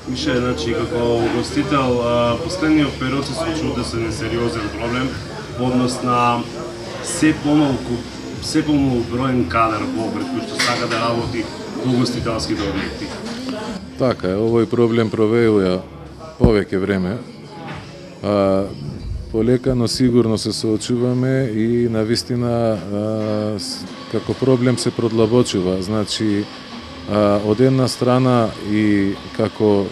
Мише, значи, како угостител, последниот период се случува да се несериозен проблем во однос на се помалку броен кадар во Охрид кој што сака да работи во угостителските објекти. Така е, овој проблем провејува повеќе време. Полека, но сигурно се соочуваме и навистина како проблем се продлабочува. Значи, од една страна и како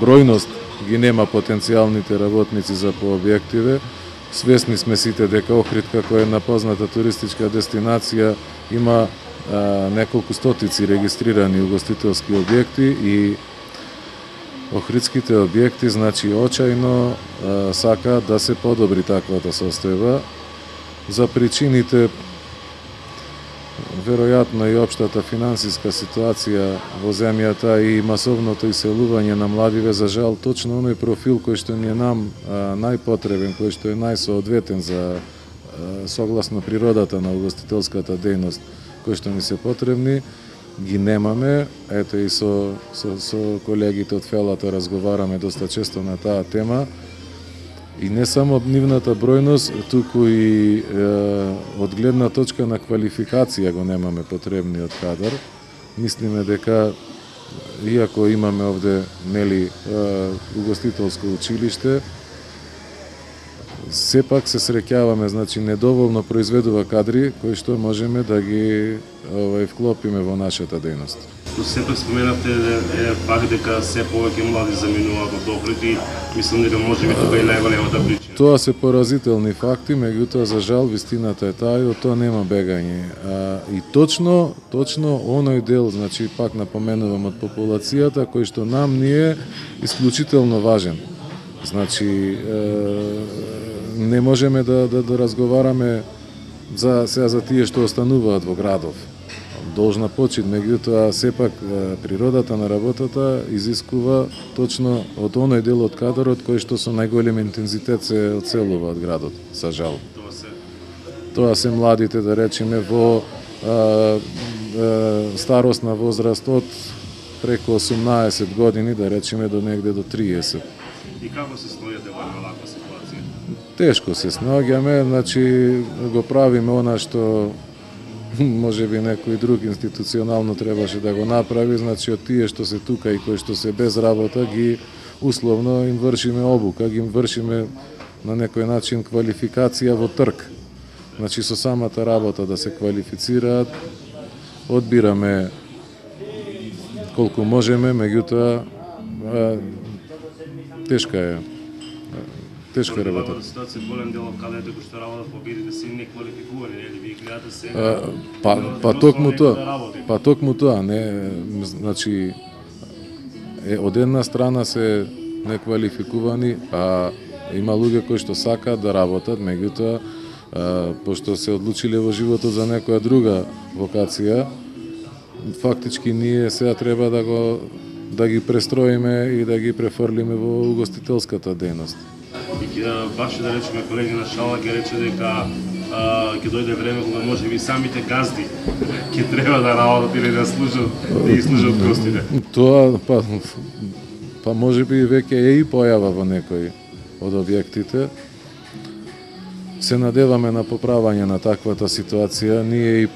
бројност ги нема потенцијалните работници за по објективе. Свесни сме сите дека Охрид како една позната туристичка дестинација има неколку стотици регистрирани угостителски објекти и охридските објекти, значи, очајно сака да се подобри таквата состојба. За причините, веројатно и општата финансиска ситуација во земјата и масовното иселување на младиве, за жал, точно оној профил кој што ни е нам најпотребен, кој што е најсоодветен за согласно природата на угостителската дејност, кој што ни се потребни, ги немаме. Ето и со колегите од Фелато разговараме доста често на таа тема. И не само нивната бројност, туку и од гледна точка на квалификација го немаме потребниот кадар. Мислиме дека, иако имаме овде угостителско училиште, сепак се среќаваме, значи, недоволно произведува кадри кои што можеме да ги вклопиме во нашата дејност. Но сепак споменавте факт дека се повеќе млади заминуваат од Охрид и мислам дека можеби тоа е најголемата причина. Тоа се поразителни факти, меѓутоа за жал вистината е таа и од тоа нема бегање. И точно оној дел, значи пак напоменувам, од популацијата кој што нам ни е исклучително важен. Значи не можеме да разговараме за тие што остануваат во градов. Должна почит, меѓутоа сепак природата на работата изискува точно од оној дел од кадарот кој што со најголем интензитет се одселува од градот, за жал. Тоа се младите, да речеме, во старосна возраст од преку 18 години, да речеме, до негде до 30. И како се сноѓате во оваква ситуација? Тешко се сноѓаме, значи го правиме она што можеби некој друг институционално требаше да го направи, значи од тие што се тука и кои што се без работа, ги условно им вршиме обука, ги им вршиме на некој начин квалификација во трк. Значи со самата работа да се квалифицираат, одбираме колку можеме, меѓутоа тешка е работа. Во ситуација голем дел од кадрите кои што работат во објектите се неквалификувани, нели? Вие гледате се. Па токму тоа, не, значи од една страна се неквалификувани, а има луѓе кои што сакаат да работат, меѓутоа пошто се одлучиле во животот за некоја друга вокација, фактички ние сега треба да ги престроиме и да ги префрлиме во угостителската дејност. Баш да речеме колегина Шала ќе рече дека ќе дојде време кога можеби самите газди ќе треба да работат или да ги служат гостите. Тоа па можеби веќе е и појава во некои од објектите. Се надеваме на поправање на таквата ситуација. Ние и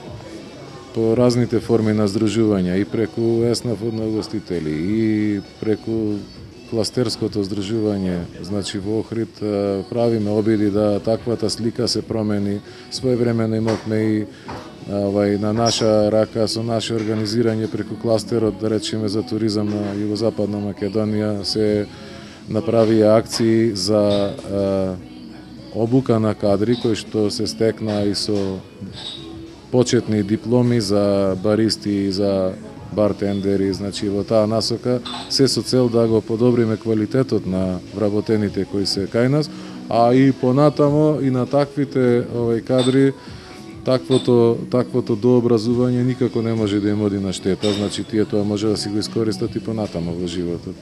по разните форми на здружување, и преку ЕСНАФ од угостители, и преку кластерското здружување, значи во Охрид, правиме обиди да таквата слика се промени. Своевремено имавме и на наша рака со наше организирање преку кластерот, да речеме, за туризам на Југозападна Македонија, се направија акции за обука на кадри кои што се стекна и со почетни дипломи за баристи и за бартендери, значи во таа насока, се со цел да го подобриме квалитетот на вработените кои се кај нас, а и понатамо и на таквите кадри таквото дообразување никако не може да им оди на штета, значи тие тоа може да си го искористат и понатамо во животот.